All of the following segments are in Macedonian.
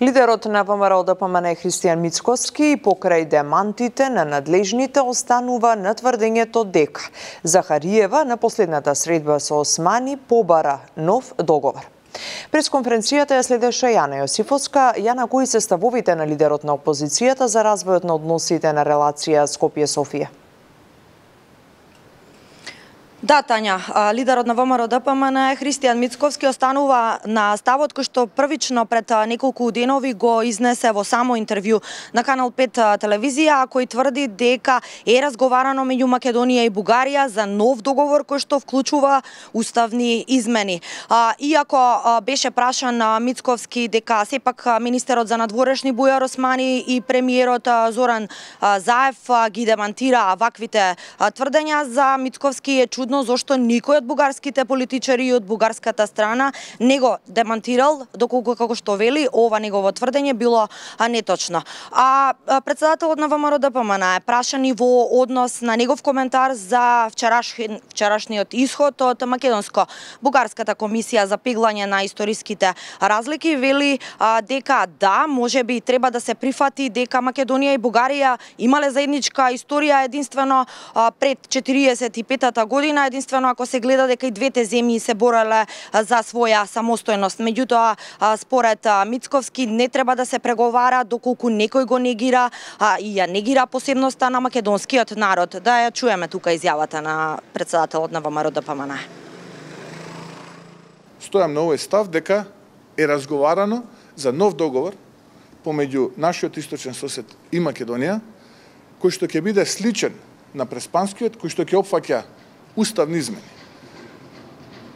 Лидерот на ВМРО-ДПМН Христијан Мицковски покрај демантите на надлежните останува на тврдењето дека Захариева на последната средба со Османи побара нов договор. Пресконференцијата ја следеше Јана Јосифовска. Јана, кои се ставовите на лидерот на опозицијата за развојот на односите на релација Скопје-Софија? Да, Тања, лидерот на ВМРО-ДПМН Христијан Мицковски останува на ставот кој што првично пред неколку денови го изнесе во само интервју на Канал 5 телевизија, кој тврди дека е разговарано меѓу Македонија и Бугарија за нов договор кој што вклучува уставни измени. Иако беше прашан Мицковски дека сепак министерот за надворешни Бујар Османи и премиерот Зоран Заев ги демантира ваквите тврдења, за Мицковски е чудно зошто никој од бугарските политичари и од бугарската страна не го демантирал, доколку како што вели ова негово тврдење било неточно. Председателот на ВМРО-ДПМН е прашан и во однос на негов коментар за вчерашниот исход од македонско-бугарската комисија за пеглање на историските разлики. Вели дека да, можеби треба да се прифати дека Македонија и Бугарија имале заедничка историја единствено пред 45-та година, единствено ако се гледа дека и двете земји се бореле за своја самостојност. Меѓутоа, според Мицковски, не треба да се преговара доколку некој го негира и ја негира посебноста на македонскиот народ. Да ја чуеме тука изјавата на председателот на ВМРО-ДПМН. Стојам на овој став дека е разговарано за нов договор помеѓу нашиот источен сосед и Македонија, кој што ќе биде сличен на преспанскиот, кој што ќе опфаќа уставни измени.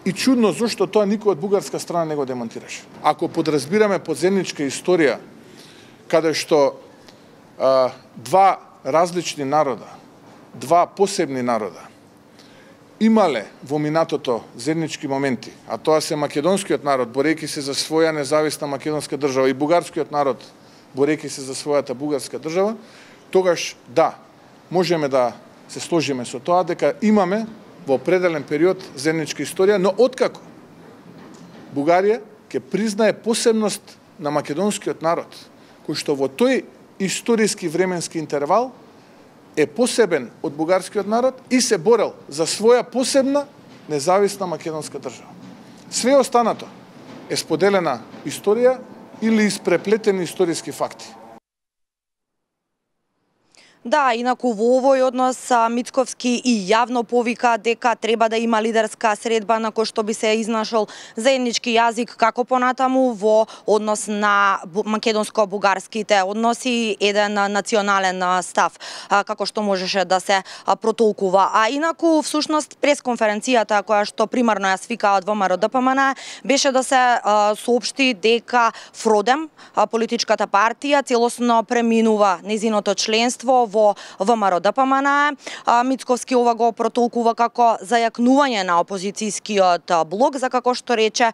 И чудно зошто тоа никој од бугарска страна не го демонтираше. Ако подразбираме подземничка историја, каде што два различни народа, два посебни народа, имале во минатото заеднички моменти, а тоа се македонскиот народ, борејќи се за своја независна македонска држава, и бугарскиот народ, борејќи се за својата бугарска држава, тогаш да, можеме да се сложиме со тоа дека имаме во определен период заедничка историја, но откако Бугарија ќе признае посебност на македонскиот народ, кој што во тој историски временски интервал е посебен од бугарскиот народ и се борел за своја посебна независна македонска држава. Све останато е споделена историја или испреплетени историски факти. Да, инаку во овој однос Мицковски и јавно повика дека треба да има лидерска средба на кој што би се изнашол заеднички јазик како понатаму во однос на македонско-бугарските односи, еден национален став како што можеше да се протолкува. А инаку всушност пресконференцијата која што примарно ја свика од ВМРО-ДПМН беше да се соопшти дека Фродем, политичката партија, целосно преминува незиното членство во ВМРО-ДПМН. Мицковски ова го протолкува како зајакнување на опозицијскиот блок, за како што рече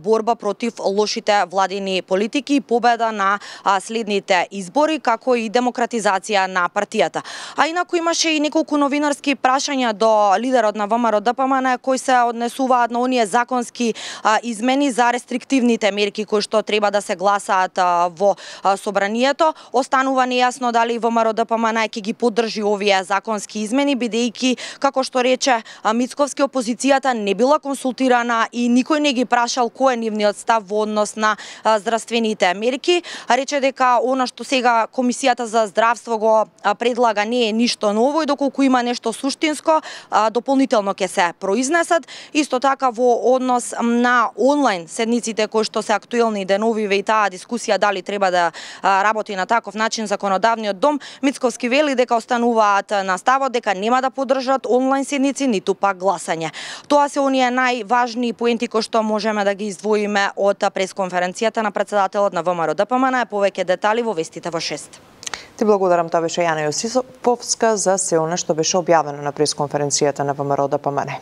борба против лошите владини политики и победа на следните избори, како и демократизација на партијата. А инаку имаше и неколку новинарски прашања до лидерот на ВМРО-ДПМН кои се однесуваат на оние законски измени за рестриктивните мерки кои што треба да се гласаат во собранието. Останува нејасно дали ВМРО-ДПМН ќе ги поддржи овие законски измени, бидејќи, како што рече Мицковски, опозицијата не била консултирана и никој не ги прашал кој е нивниот став во однос на здравствените мерки. Рече дека она што сега Комисијата за здравство го предлага не е ништо ново и доколку има нешто суштинско, дополнително ќе се произнесат. Исто така во однос на онлайн седниците кои што се актуелни деновиве и таа дискусија дали треба да работи на таков начин законодавниот дом, Мицковски вели дека остануваат на ставот дека нема да поддржат онлайн седници, ниту пак гласање. Тоа се оние најважни поенти кои што можеме да ги издвоиме од пресконференцијата на председателот на ВМРО-ДПМН. Повеќе детали во вестите во 6. Ти благодарам, тоа беше Јана Јосифовска за се она што беше објавено на пресконференцијата на ВМРО-ДПМН.